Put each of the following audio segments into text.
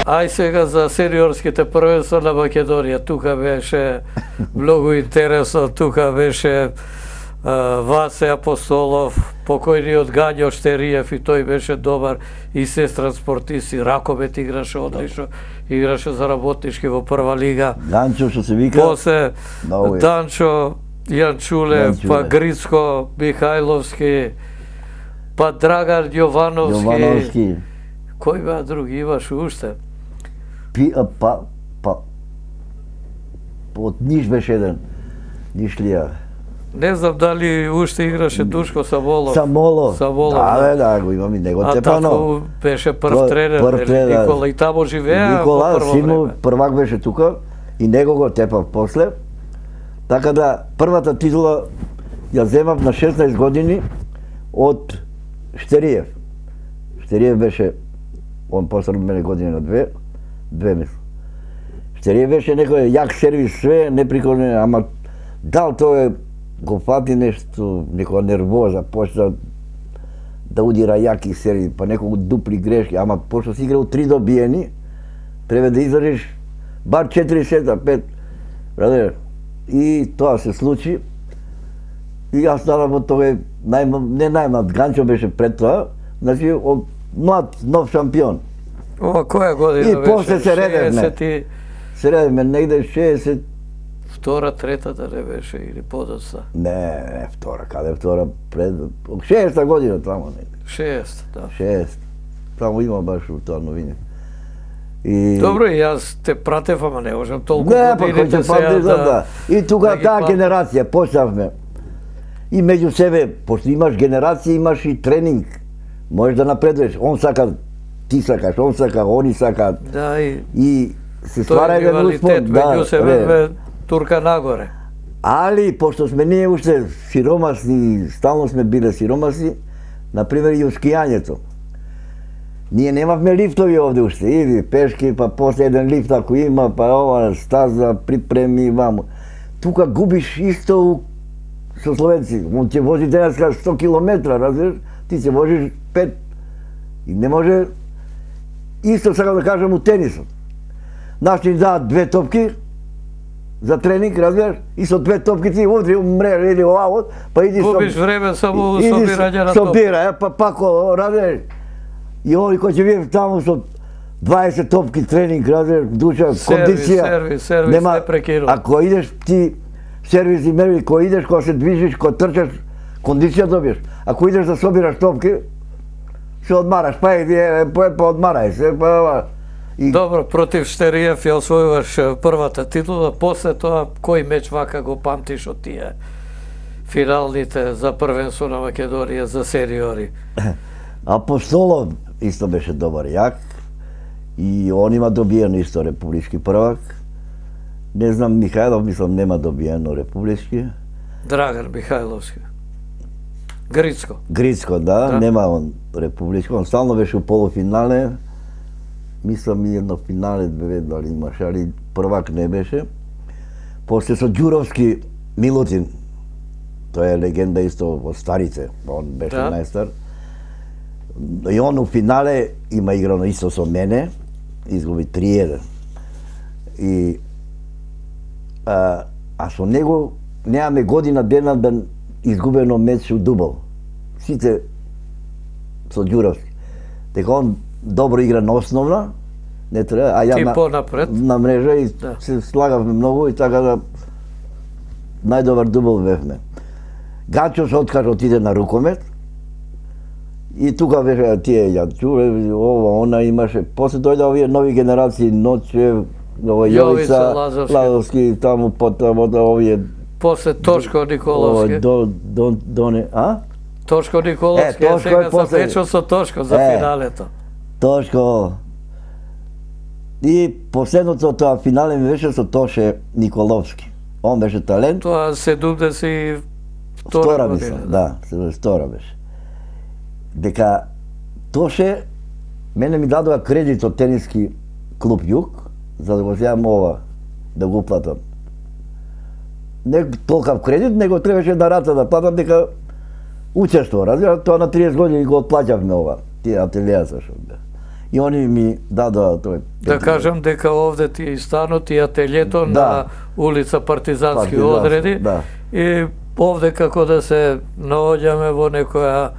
Ај сега за сениорските првенства на Македонија. Тука беше многу интересно, тука беше Васе Апостолов, покојниот Гањо Штериев, и тој беше добар и сестран спортист, и раковет играше одлично, играше за Работнички во прва лига. Данчо што се вика. После Данчо Јанчуле, па Грицко Михајловски, па Драган Јовановски. Кој беа други имаш уште? Од Ниш беше еден. Нишлија. Не знам дали уште играше Душко Самолов. Самолов. Да, го имам и него тепано. А тако беше прв тренер, Никола, и тамо живеа. Никола, сину првак беше тука, и него го тепав после. Така да, првата титула ја земав на 16 години од Штериев. Штериев беше, он после мене години на две мислам. Штериев беше некој јак сервис, све, неприколне, ама дал тој го фати нешто, некоја нервоза, почна да удира јаки сервис, па некој дупли грешки, ама пошто си играл 3 добиени, треба да издржиш бар 4 сета, 5, брадер. И тоа се случи. И јас станав од тој не најмлад, Ганчо беше пред тоа, значи од млад, нов шампион. Ова која година беше? И после се редевме. Се редевме негде 60. Втора, трета да не беше или подоцна? Не, втора, каде втора, пред 60-та година тамо негде. 60, да. 60. Тамо има баш тоа новини. Добро, и јас те пратев, ама не можам толку годините сега да... И тука таа генерација почнавме. И меѓу себе, пошто имаш генерација, имаш и тренинг. Можеш да напредуваш. Он сака, ти сакаш, он сака, они сакаат. Да, и се ствара еден успон. Меѓу себе турка нагоре. Али, пошто сме ние уште сиромасни, стално сме биле сиромасни, например и скијањето. Ние немавме лифтови овде уште, иди пешки, па после еден лифт ако има, па ова стаза, припреми, вамо. Тука губиш исто со словенци, он ќе вози денеска 100 километра, разбираш, ти ќе возиш 5. И не може, исто сакам да кажам у тенисот. Наши ни даат 2 топки за тренинг, разбираш, и со 2 топки ти удри у мрежа или оваво, па иди губиш време само собирање на топки. Собира, па пако, разбираш. И ови кој ќе биде таму со 20 топки тренинг, разбираш, душа, кондиција. Сервис, не прекинува. Ако идеш ти сервис и мерви, кој идеш, кој се движиш, кој трчаш, кондиција добиеш. Ако идеш да собираш топки, се одмараш, па иди, па одмарај се, па... Добро, против Штериев ја освојуваш првата титула, после тоа кој меч вака го памтиш од тие финалните за првенство на Македонија за сениори? Апостолов исто беше добар јак и он има добиено исто републички првак. Не знам, Михајлов мислам нема добиено републички. Драган Михајловски. Грицко. Грицко, да, нема он републички. Он стално беше у полуфинале. Мислам и едно финале дали имаше, али првак не беше. После со Ѓуровски Милутин. Тој е легенда исто од старите. Он беше најстар. И он у финале има играно исто со мене, изгуби 3-1. И со него немаме година дена да изгубено меч у дубл. Сите со Ѓуровски. Дека он добро игра на основна, не треба, а ја на мрежа и се слагавме многу и така да најдобар дубл бевме. Ганчо се откажа отиде на рукомет. И тука беше тие Јанчуле, ова, она имаше. После дојде овие нови генерации, Ночев, Јовица, Лазовски, таму потаму овие. После Тошко Николовски. Доне, а? Тошко Николовски, сега сам вечил со Тошко за финалето. Тошко. И последното тоа финале ми беше со Тоше Николовски. Он беше талент. Тоа 72 година. Да, 72 беше. Дека Тоше мене ми дадоа кредит од тениски клуб Југ за да го земам ова, да го платам. Не толкав кредит, него требаше на рата да платам дека учество, разбира, тоа на 30 години го отплаќавме ова, тие ателијата што бе. и они ми дадоа тој. Да кажам дека овде ти е и станот и ателјето на улица Партизански одреди. И овде како да се наоѓаме во некоја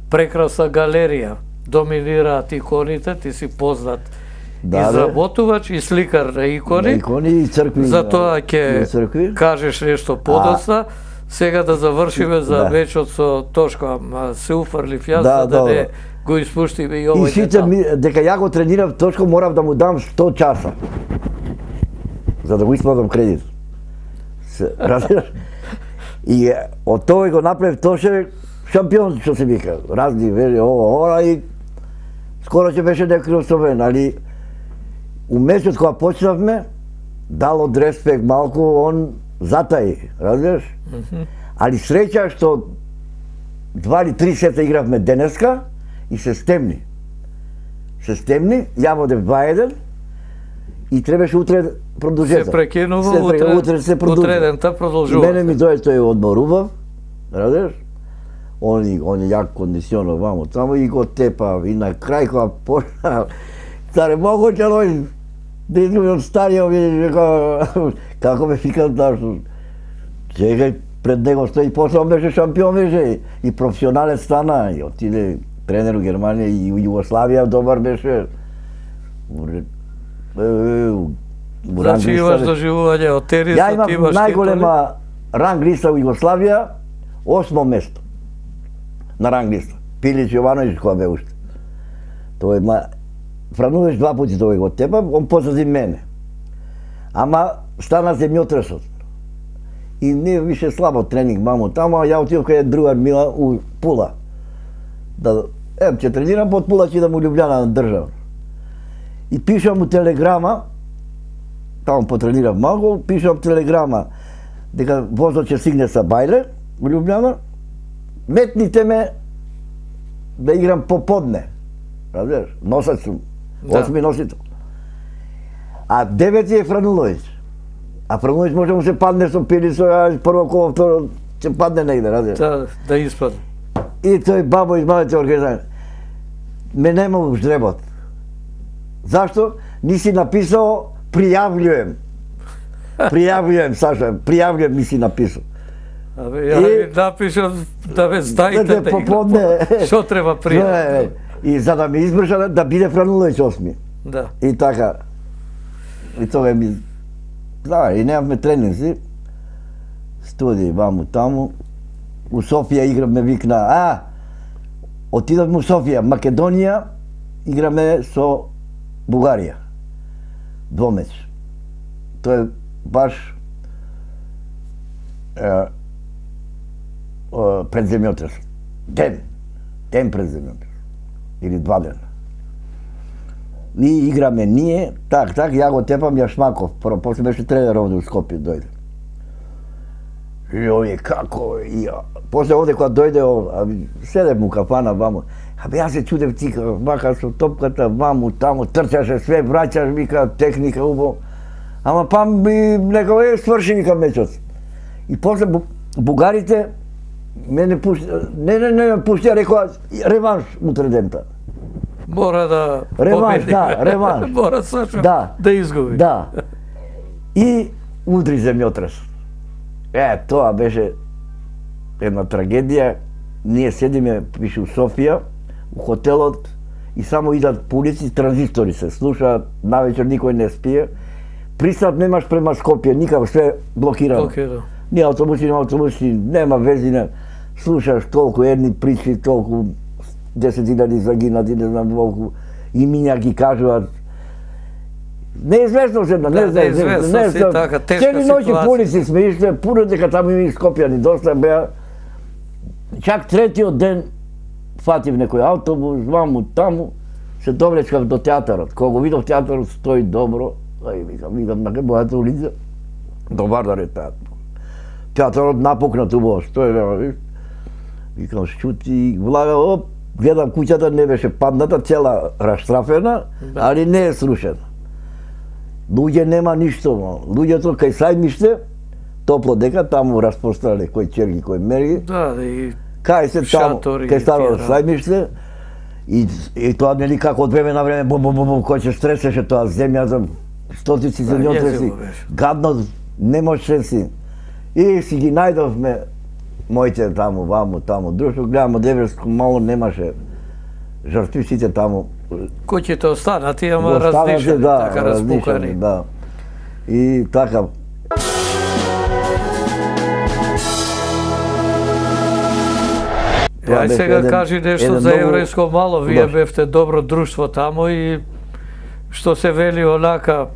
прекрасна галерија. Доминираат иконите, ти си познат изработувач и сликар на икони. И цркви. Затоа ќе кажеш нешто подоцна. Сега да завршиме за вечот со Тошко, се уфрлив јас за да не го испуштиме и овој детал. И сите дека ја го тренирав Тошко, морав да му дам 100 часа за да го исплатам кредит. И од тоа го направив Тоше шампион, што се вика. Разни вели ова и скоро ќе беше некој освоен, али у месец кога почнавме, дал од респект малку, он затаи, разбираш? Али среќа што 2 или 3 сета игравме денеска и се стемни. Се стемни, ја водев 2-1 и требаше утре продолжета. Се прекинува, утре се утредента продолжува. Мене ми дојде тој одморував, разбираш? Он е јак кондиционер вамо таму и го тепа и на крај кога почна старе могуќе оној да изгуби од старија како ме фикат што чекај пред него стои после он беше шампион беше и професионален стана и отиде тренер у Германија и у Југославија добар беше. Значи имаш доживување од тенисот, ја имам најголема ранг листа у Југославија, 8 место на ранг листа. Пилич Јовановиќ кога бе уште. Тој Франувич 2 пати тој го тепа, он позади мене. Ама стана земјотресот. И не више слабо тренинг мамо таму, а ја отидов кај другар Мила у Пула. Да ќе тренирам под Пула, ќе да му Љубљана на држава. И пишам му телеграма, таму потренирав малку, пишам телеграма дека возот ќе стигне са бајле у Љубљана. Метните ме да играм поподне. Разбираш? Носач сум. 8 носител. А 9 е Франуловиќ. А Франуловиќ може му се падне со Пилисо, а прво коло второ ќе падне негде, разбираш? Да испадне. И тој бабо из малите организации. Ме нема у ждребот. Зашто? Ниси написал пријављуjem. Пријављуjem, Саша, пријављуjem ми си написал. Абе, ја ви напишам да ме знаете да поподне. Што треба пријављуjem? И за да ме избржа да биде Франуловиќ 8. Да. И така. И тоа ми... Да, и немавме тренинзи. Студии ваму таму. У Софија играме викна, отидовме у Софија, Македонија, играме со Бугарија. Двомеч. Тоа е баш пред земјотрес. Ден пред земјотрес. Или 2 дена. И играме ние, так, ја го тепам Јашмаков, прво, после беше тренер овде у Скопје, дојде. И овие како, и после овде кога дојде, седев му кафана ваму, јас се чудев ти, вака со топката ваму, таму, трчаше све, враќаш, вика, техника, убаво. Ама па ми некој сврши, вика, мечот. И после бугарите мене пушти, не пушти, рекоа реванш утре дента. Мора да реванш, да, реванш. Мора Саша да изгуби. Да. И удри земјотрес. Тоа беше една трагедија. Ние седиме, пише у Софија, у хотелот и само идат по улици, транзистори се слушаат, навечер никој не спие. Пристап немаш према Скопје, никако, све блокирано. Ни автобуси, нема вези, слушаш толку едни причи, толку 10.000 загинати, не знам колку, имиња ги кажуваат. Неизвестно се, неизвестно си, така, тешка ситуација. Цели ноќи по улици сме ишле, пуно дека таму има Скопјани, доста беа. Чак третиот ден фатив некој автобус, ваму таму, се довлечкав до театарот. Кога го видов театарот стои добро, видам на бојата улица, добар да ретаат. Театарот напукнат убаво, стои, викам шчути, влага, гледам куќата не беше падната, цела раштрафена, али не е срушена. Луѓе нема ништо, луѓето кај Сајмиште, топло дека, таму распрострале кој черги, кој мерги. Да, и кај се таму, кај старо Сајмиште, И тоа нели како од време на време кој се стресеше тоа земјата, стотици земјотреси, гадно не можеше си. И си ги најдовме моите таму, ваму, таму, друштво, гледам од Евреско мало немаше жртви, сите таму. Куќите останати, ама разнишени, така распукани. Да. И така. Ај сега кажи нешто за еврејско мало, вие бевте добро друштво таму и што се вели онака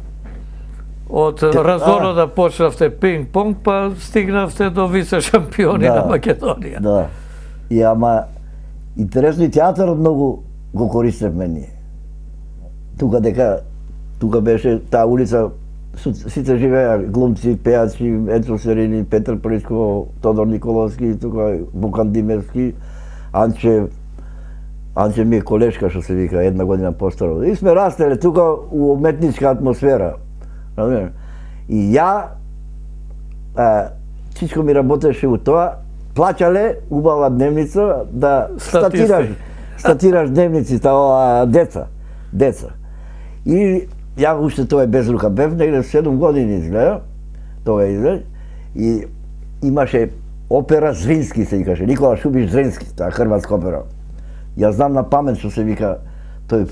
од разоно да почнавте пинг-понг, па стигнавте до вице шампиони на Македонија. Да. И ама интересно и театарот многу го користевме ние. Тука беше таа улица, сите живеа глумци, пејачи, Ецо Серини, Петар Причко, Тодор Николовски, тука Букан Димевски, Анче ми е колешка што се вика, 1 година постаро. И сме растеле тука у уметничка атмосфера. И ја, Чичко ми работеше у тоа, плаќале убава дневница да статираш дневници деца. И ја уште тоа е без рука бев, негде 7 години изгледа, тоа изгледа, и имаше опера Зрински се викаше, Никола Шубиш Зрински, таа хрватска опера. Ја знам на памет што се вика тој.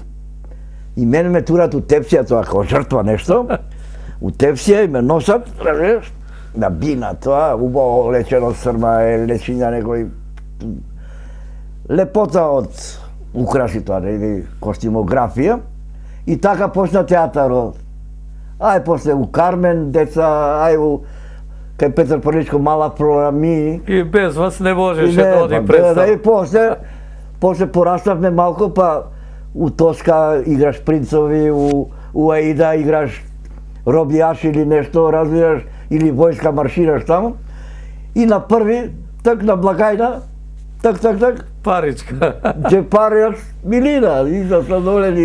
И мене ме турат у тепсија, тоа како жртва нешто, у тепсија и ме носат, на бина тоа, убаво лечено срма, лечиња некој лепота од украси тоа, или костимографија. И така почна театарот. Ај после у Кармен деца, ај у кај Петар Приличко мала програми. И без вас не можеше да оди представа. И после пораставме малку, па у Тоска играш принцови, у Аида играш робијаш или нешто, разбираш, или војска маршираш таму. И на први, так на благајна, так, паричка. Джепарјаш милина, и за сладолени.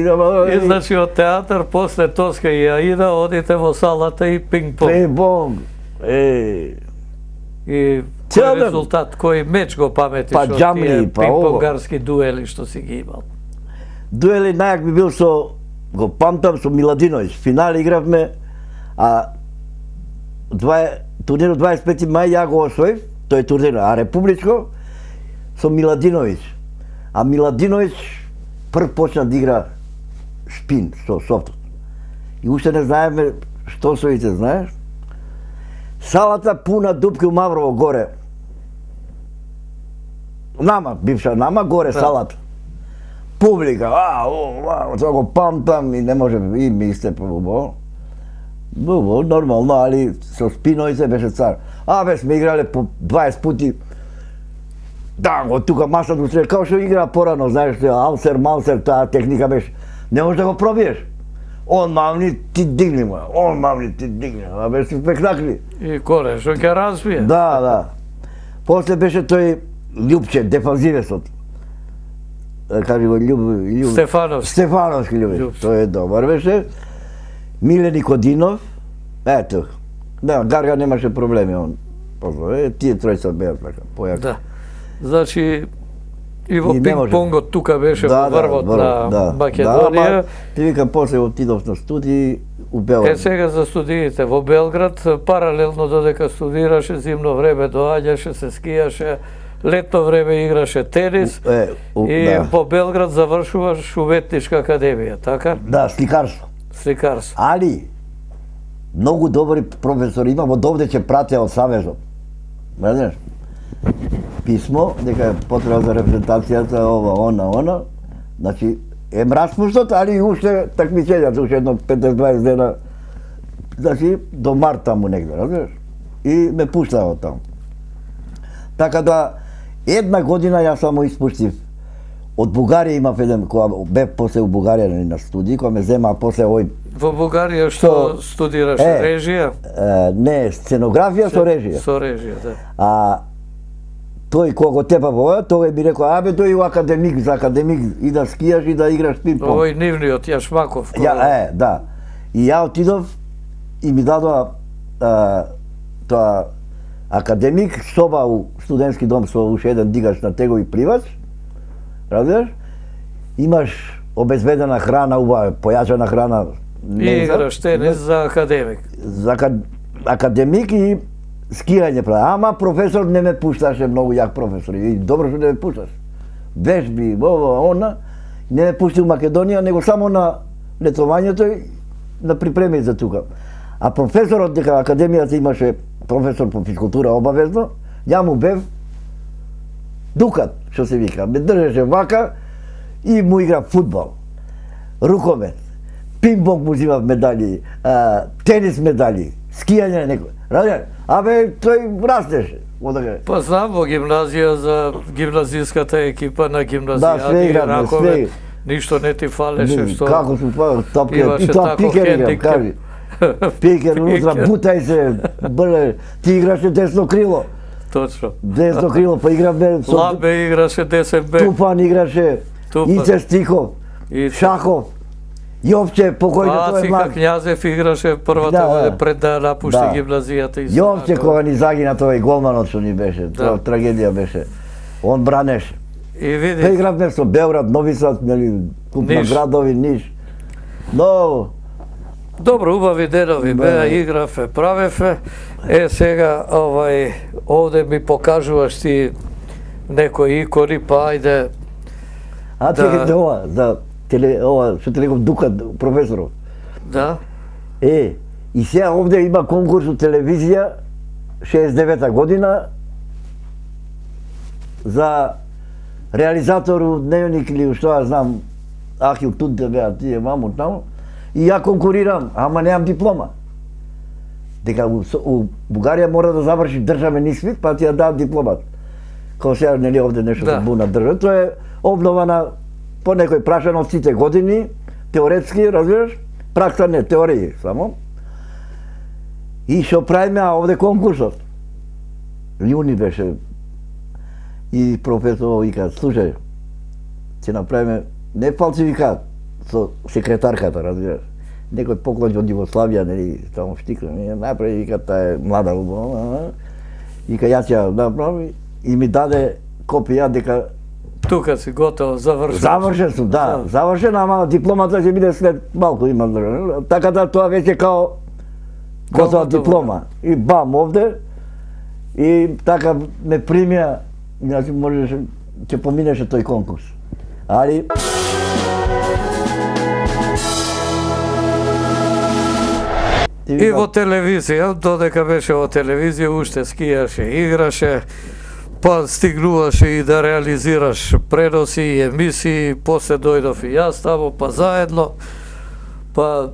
И значи од театар, после Тоска и Аида, одите во салата и пинг-понг. Пинг-понг. И кој резултат, кој меч го паметиш од тие пинг-понгарски дуели што си ги имал? Дуели најак би бил со, го памтам, со Миладиновиќ. Финал игравме, а турнирот 25 мај ја го освоив, тој турнир, а републичко со Миладиновиќ. А Миладиновиќ прв почна да игра шпин со софтот. И уште не знаеме што соите, знаеш? Салата пуна дупки у Маврово горе. Нама, бивша нама, горе салата. Публика, тоа го памтам и не може, и ми истепа убаво. Убаво, нормално, али со спиној се беше цар. Бе, сме играле по 20 пути. Да, од тука масата устред, као што игра порано, знаеш, Алсер, Малсер, таа техника беше. Не можеш да го пробиеш. Он мамни, ти дигни му. Он мамни, ти дигни. Беше спектакли. И коре, што ќе разбие. Да. После беше тој Љупче, дефанзивесот. Кажи го Стефановски Љубе. Тој е добар беше. Миле Никодинов. Ето. Да, Гарга немаше проблеми он. Тие тројца беа така, појака. Да. Значи, и во пинг-понгот тука беше во врвот на Македонија. Ти викам, после отидов на студии у Белград. Сега за студиите во Белград, паралелно додека студираше, зимно време доаѓаше, се скијаше, летно време играше тенис и во Белград завршуваш уметничка академија, така? Да, сликарство. Али, многу добри професори имам, од овде ќе пратеа од Савезот. Знаеш? Писмо, дека е потреба за репрезентацијата, она. Значи, е распуштот, али и уште такмичењата, уште едно 15-20 дена. Значи, до март таму негде, разбираш? И ме пуштава таму. Така да, 1 година јас само испуштив. Од Бугарија имав еден, кога бев после у Бугарија на студии, кога ме зема после овој... Во Бугарија што студираш режија? Не, сценографија со режија. Со режија, да. А тој кога го тепа во ова, тој би рекол, тој у академик, за академик и да скијаш и да играш пинг-понг. Овој нивниот Јашмаков. Да. И ја отидов и ми дадоа тоа академик, соба у студентски дом со уште еден дигач на тегови пливач, разбираш? имаш обезбедена храна, убава, појачена храна. И играш тенис за академик. За академик и скијање прави. Ама професор не ме пушташе, многу јак професор. И добро што не ме пушташ. Вежби, она, не ме пушти у Македонија, него само на летувањето и на припреми за тука. А професорот, дека академијата имаше професор по физкултура обавезно, ја му бев дукат, што се вика. Ме држеше вака и му игра фудбал, рукомет, пинг-понг му зимав медали, тенис медали, скијање некој. Ради, абе, тој растеше. Па знам во гимназија за гимназиската екипа на гимназијади и раковет. Ништо не ти фалеше, што... Како се фалеше, топке, и тоа пикер играм, кажи. Пикер, утра, бутај се, брле, ти играше десно крило. Точно. Десно крило, па играме... Лабе играше десен бек. Тупан играше, Ице Стихов, Шахов, Јовче, покојно тој е млад. Књазев играше првата пред да напушти гимназијата. Јовче кога ни загина тој голманот што ни беше, тоа трагедија беше. Он бранеше. И види. Па игравме со Белград, Нови Сад, нели, куп на градови, Ниш. Но добро, убави денови беа, играве, правеве. Сега овде ми покажуваш ти некои икони, па ајде. А чекайте ова, ова што те реков Дукат, професорот. Да. И сега овде има конкурс у телевизија 69-та година за реализатор у Дневник или што ја знам, Ахил Тунте беа тие маму таму, и ја конкурирам, ама немам диплома. Дека у Бугарија мора да заврши државен испит, па ти ја дадат дипломат. Као сега нели овде нешто се буна држава. Тоа е обнована по некој прашан од сите години, теоретски, разбираш, пракса не, теорија само. И што правиме, а овде конкурсот. Јуни беше. И професор вика, слушај, ќе направиме не фалсификат со секретарката, разбираш. Некој поклон од Југославија, нели, таму штикна, направи, вика, таа е млада убава. Вика, јас ја направи и ми даде копија дека тука си готово, завршен. Завршен сум, да, завршен, ама дипломата ќе биде след малку, има. Така да тоа веќе као готова диплома. И бам овде, и така ме примија, значи можеше, ќе поминеше тој конкурс. Али... И во телевизија, додека беше во телевизија, уште скијаше, играше, па стигнуваше и да реализираш преноси и емисии, после дојдов и јас таму, па заедно, па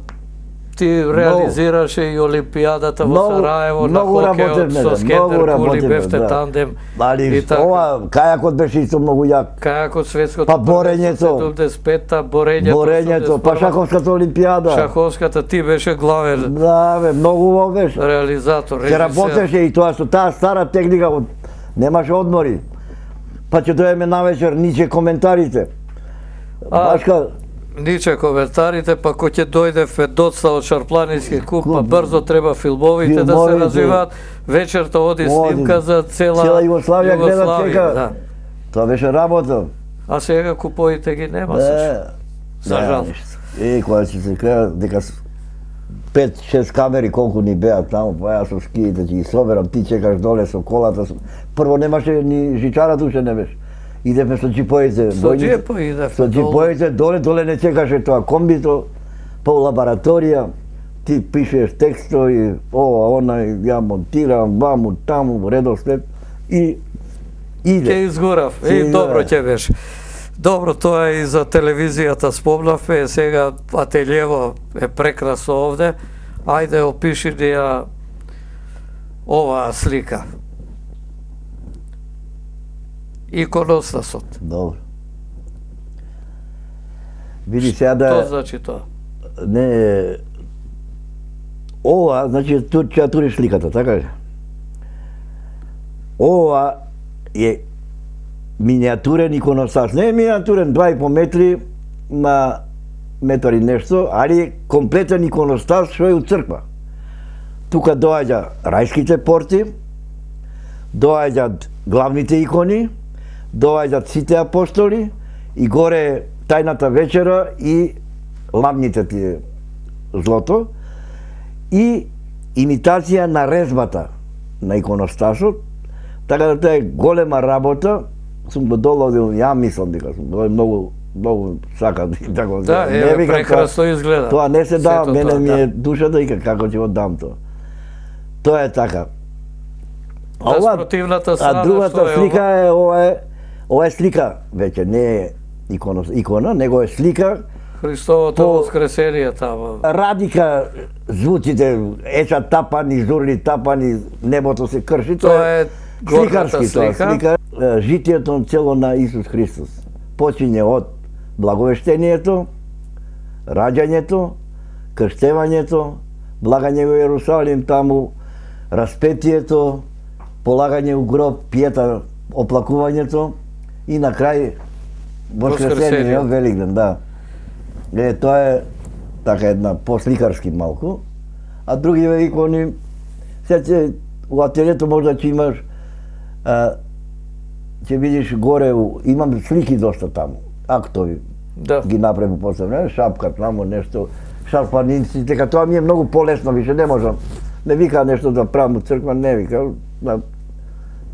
ти реализираше и Олимпијадата во Сараево на хокеот со Скендер Кули, бевте тандем. Али ова, кајакот беше исто многу јак. Кајакот светското па борењето, 75-та, борењето, па шаховската Олимпијада. Шаховската, ти беше главен. Да, бе, многу во беше. Реализатор, режисер. Ќе работеше и тоа со таа стара техника, немаше одмори. Па ќе дојдеме навечер, ниче коментарите. Башка... Ниче коментарите, па кој ќе дојде доцна од Шарпланински куп, па брзо треба филмовите да се развиваат. Вечерта оди снимка за цела Југославија гледа чека. Тоа беше работа. А сега куповите ги нема се. За жал. Кога ќе се крена дека 5-6 камери колку ни беа таму, па јас со скиите ќе ги соберам, ти чекаш доле со колата. Прво немаше ни жичара туше не беше. Идеме со джипоите. Со джипо идевте. Со джипоите доле не чекаше тоа комбито, па у лабораторија, ти пишеш текстови, ова, она, ја монтирам, ваму, таму, редослед и иде. Ке изгорав, и добро ќе беше. Добро, тоа и за телевизијата спомнавме, сега ателјево е прекрасно овде. Ајде, опиши ни ја оваа слика. Иконостасот. Добро. Види сега да... Што значи тоа? Не... Ова, значи, тут ќе туриш сликата, така ли? Ова е миниатурен иконостас. Не е миниатурен, 2,5 метри, на метар и нешто, али комплетен иконостас што е у црква. Тука доаѓа рајските порти, доаѓаат главните икони, доаѓаат сите апостоли и горе тајната вечера и ламните тие злото и имитација на резбата на иконостасот, така да тоа е голема работа. Сум го доловил, ја мислам дека сум многу сакам така. Да, прекрасно изгледа. Тоа не се дава, мене ми е душата и како ќе го дам тоа. Тоа е така. А другата слика е ова е слика, веќе не е икона, него е слика Христовото воскресение таму. Радика звуците, еча тапани, журли тапани, небото се крши, тоа е сликарски слика. Житието цело на Исус Христос почиње од благовештението, раѓањето, крштевањето, благање во Јерусалим таму, распетието, полагање у гроб, пиета, оплакувањето и на крај воскресение, Великден, да. Тоа е така една посликарски малку, а другиве икони, сега у ателието можда ќе имаш, ќе видиш горе, имам слики доста таму, актови, ги направи после време, шапка таму, нешто, шарпаници, дека тоа ми е многу полесно, више не можам. Не вика нешто да правам у црква, не вика,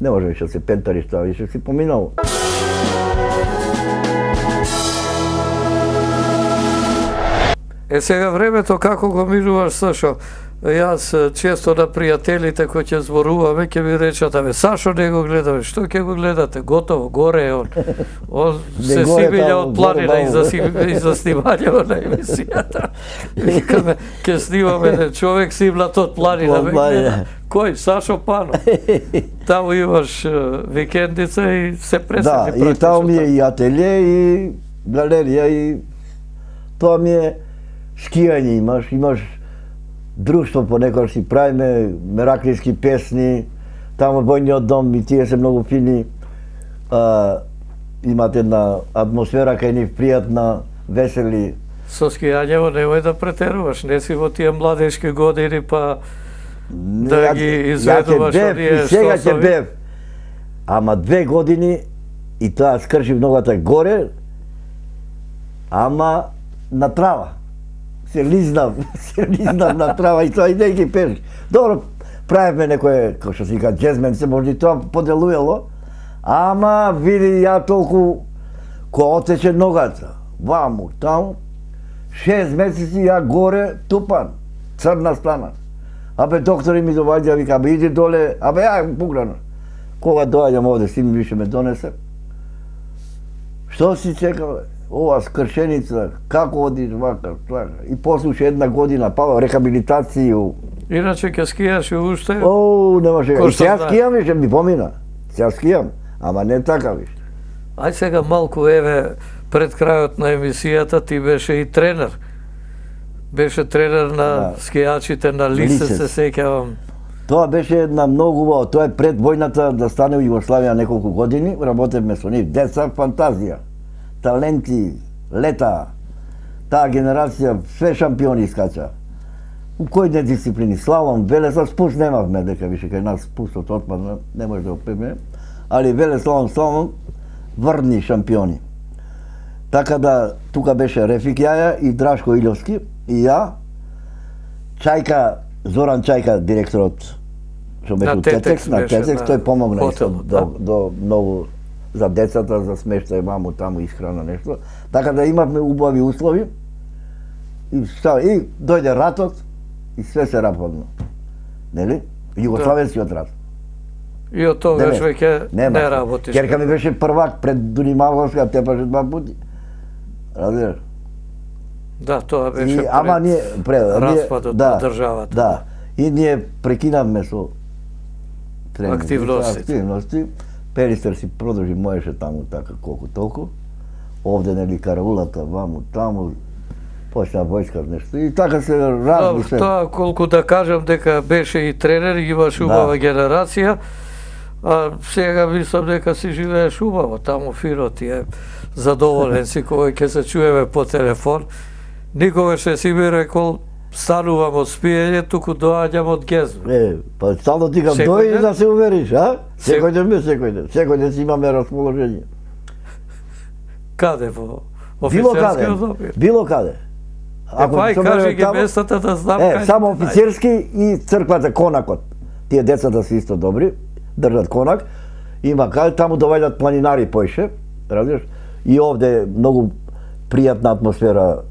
не може више се пентариш тоа, више си поминало. Сега времето како го минуваш, Сашо? Јас често на пријателите кои ќе зборуваме, ќе ми речат, Сашо не го гледаме, што ќе го гледате? Готово, горе е он се симилја од планина и за снимање на емисијата. Викаме, ќе снимаме човек симлат од планина. Кој? Сашо Панов. Таму имаш викендица и се преседи практично. Да, и таму ми е и ателие, и галерија, и тоа ми е скијање имаш друштво понекогаш си правиме, мераклиски песни, таму војниот дом и тие се многу фини, имат една атмосфера кај нив пријатна, весели. Со скијањево немој да претеруваш, не си во тие младешки години па да ги изведуваш оние што сега ќе бев, ама 2 години и тоа скршив ногата горе, ама на трава. Се лизнав на трава и тоа и не ги пеш. Добро, правевме некое, како што се вика, джезмен, се може и тоа поделуело, ама види ја толку, кој отече ногата, ваму, таму, 6 месеци ја горе, тупан, црна стана. Абе, доктори ми доваѓа, вика, абе, иди доле, абе, ја пуграно. Кога доаѓам овде, син више ме донесе. Што си чекал, ова скршеница, како одиш вака, така. И послуша една година, па рехабилитацију. Иначе ќе скијаш и уште? О, немаше. И сега скијам више, ми помина. Сега скијам, ама не така више. Ај сега малку, еве, пред крајот на емисијата ти беше и тренер. Беше тренер на скијачите на Лисец, се сеќавам. Тоа беше една многу убава, тоа е пред војната да стане во Југославија неколку години, работевме со нив, деца фантазија, таленти, лета, таа генерација, све шампиони искача. У кои не дисциплини, слалом, велеса, спуст немавме, дека више кај нас спустот отпадна, не може да опреме, али веле, слалом, врни шампиони. Така да, тука беше Рефик Јаја и Драшко Илјовски, и ја, Чајка, Зоран Чајка, директорот, што беше у Тетекс, на Тетекс, тој помогна до многу за децата, за смештај, маму, таму, исхрана, нешто. Така да имавме убави услови, и дојде ратот, и све се рападна. Нели? Југославенскиот рат. И од тогаш веќе не работиш. Керка ми беше првак пред Дунимавовска, тепаше 2 пути. Разбираш? Да, тоа беше пред распадот на државата. Да, и ние прекинавме со активности. Перистер си продолжи, можеше таму така колку толку. Овде нели караулата, ваму, таму, почна војска нешто. И така се разби се. Тоа колку да кажам дека беше и тренер, имаш убава генерација, а сега мислам дека си живееш убаво, таму фино ти е задоволен си кој ќе се чуеме по телефон. Никогаш не си ми рекол станувам од спиење, туку доаѓам од гезба. Па стално ти кам дојди да се увериш, а? Секој ден си имаме расположение. Каде Офицерски одобир. Било каде. Ај кажи ги местата да знам кај. Само офицерски и црквата Конакот. Тие децата се исто добри, држат конак. Има каде таму доваѓаат планинари поише, разбираш? И овде многу пријатна атмосфера.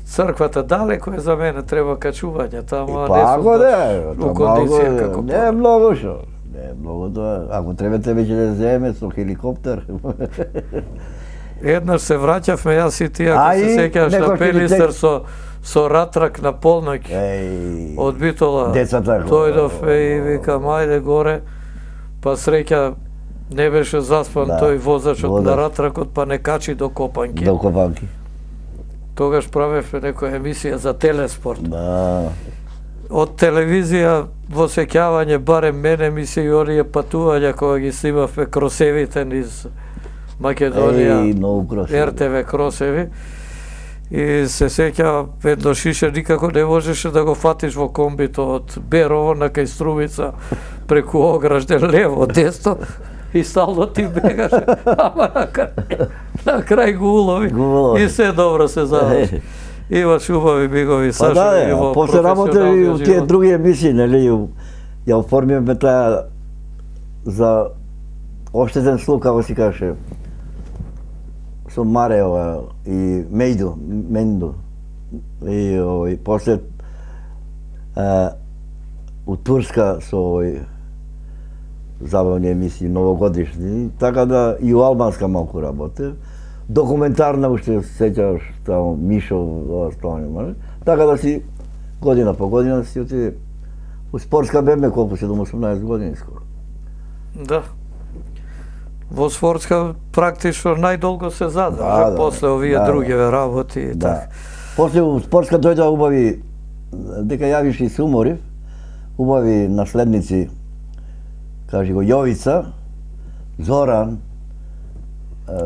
Црквата далеко е за мене, треба качување таму, а не сум у кондиција како. Не е многу шо. Не е многу тоа. Ако требате веќе да земе со хеликоптер. Еднаш се враќавме јас и ти, ако се сеќаваш на Пелистер со ратрак на полноќ од Битола. Децата. Дојдов и викам ајде горе, па среќа не беше заспан тој возачот на ратракот, па не качи до Копанки. До Копанки. Тогаш правевме некоја емисија за телеспорт. Да. Од телевизија во сеќавање барем мене ми се и оние патувања кога ги снимавме кросевите низ Македонија, РТВ кросеви. И се сеќава еднош ише никако не можеше да го фатиш во комбито од Берово на кај Струмица преку Огражден лево, десно и стално ти бегаше, ама на крај го улови и се добро се заврши. Имаш убави бигови, Сашо. Па да, после работа и у тие други емисии, нели, ја оформиме таа за оштетен слух, како си каже, со Мареова и Мендо. И после у Турска со забавни емисии, новогодишни, така да и у Албанска малку работе. Документарна уште се сеќаваш таму Мишо, остане, така да си година по година си отиде. У спортска беме колку 17-18 години скоро. Да. Во спортска практично најдолго се задржа, после овие другиве работи и така. После у спортска дојдоа убави, дека јавиш и се уморив, убави наследници, кажи го Јовица, Зоран,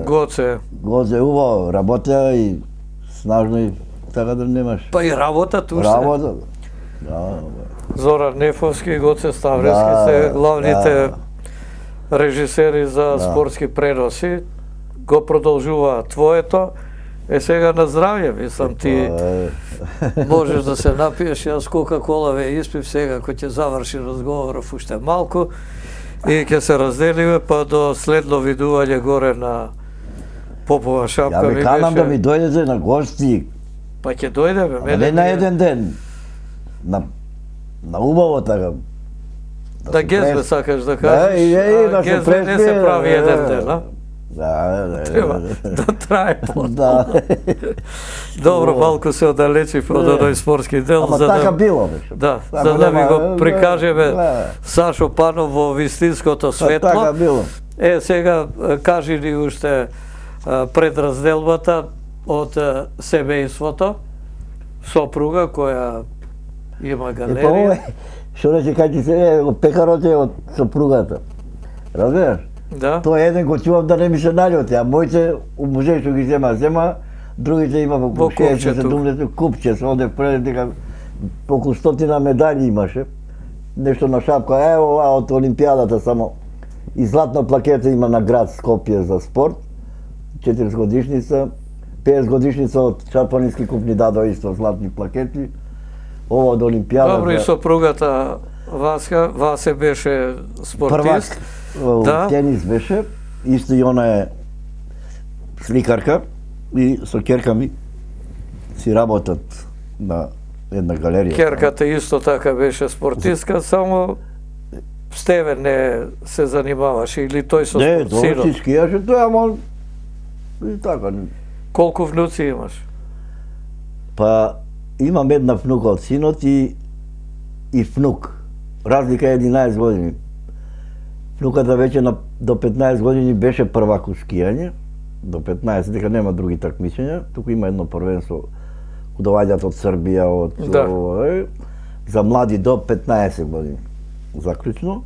Гоце убаво работеа и снажно и така да немаш. Па и работа туше. Работа, да. Зоран Нефовски и Гоце Ставрески се главните режисери за спортски преноси. Го продолжува твоето. Сега на здравје, мислам ти можеш да се напиеш, јас Кока-кола ве испив сега кој ќе заврши разговоров уште малку. И ќе се разделиме, па до следно видување горе на Попова шапка. Ја ви канам да ми дојдете на гости. Па ќе дојдеме. Не на еден ден. На убаво така. Да гезбе сакаш да кажеш. Гезбе не се прави еден ден, а? Да. Треба да трае по-долго. Добро, малку се оддалечив од оној спортски дел. Ама така било беше. Да, за да ви го прикажеме Сашо Панов во вистинското светло. Така било. Сега кажи ни уште пред разделбата од семејството, сопруга која има галерија. Што рече кај ти се пекарот е од сопругата. Разбираш? Да. Тоа еден го чувам да не ми се наљоти, а моите музеј што ги зема, другите има во 60-70 купче, се оде пред дека околу 100 медали имаше. Нешто на шапка, ево од Олимпијадата само. И златна плакета има на град Скопје за спорт, 40 годишница, 50 годишница од Шапанински куп ни дадо исто златни плакети. Ова од Олимпијадата. Добро, и сопругата Васе беше спортист. Првак, тенис беше, исто и она е сликарка и со ќерка ми си работат на една галерија. Ќерката исто така беше спортистка, само Стеве не се занимаваше или тој со спорт? Не, тоа си скијаше тој, ама и така. Колку внуци имаш? Па имам една внука од синот и внук. Разлика е 11 години. Внуката веќе до 15 години беше првак у скијање, до 15, дека нема други такмичења, туку има едно првенство кога доаѓаат од Србија, за млади до 15 години, заклучно.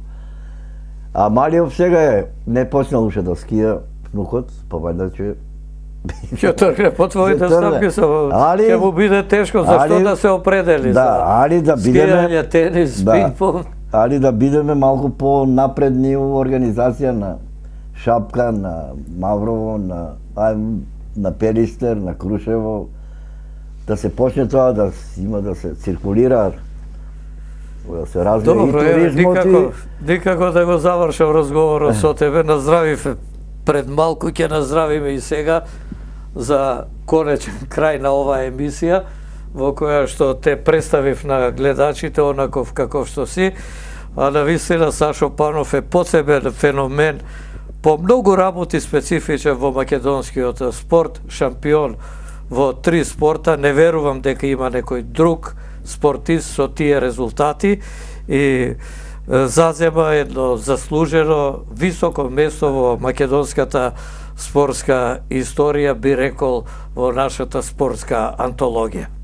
А Малиов сега е, не почнал уште да скија внукот, па вајда ќе ќе тргне по твоите стапки, ќе му биде тешко, зашто да се определи за скијање, тенис, пинг-понг. Али да бидеме малку по-напредни во организација на Шапка, на Маврово, на на Пелистер, на Крушево, да се почне тоа, да има да се циркулира, да се развие и туризмот. Никако да го завршам разговорот со тебе, наздравив пред малку, ќе наздравиме и сега за конечен крај на оваа емисија, во која што те представив на гледачите онаков каков што си, а навистина Сашо Панов е посебен феномен по многу работи специфичен во македонскиот спорт, шампион во 3 спорта. Не верувам дека има некој друг спортист со тие резултати и зазема едно заслужено високо место во македонската спортска историја, би рекол, во нашата спортска антологија.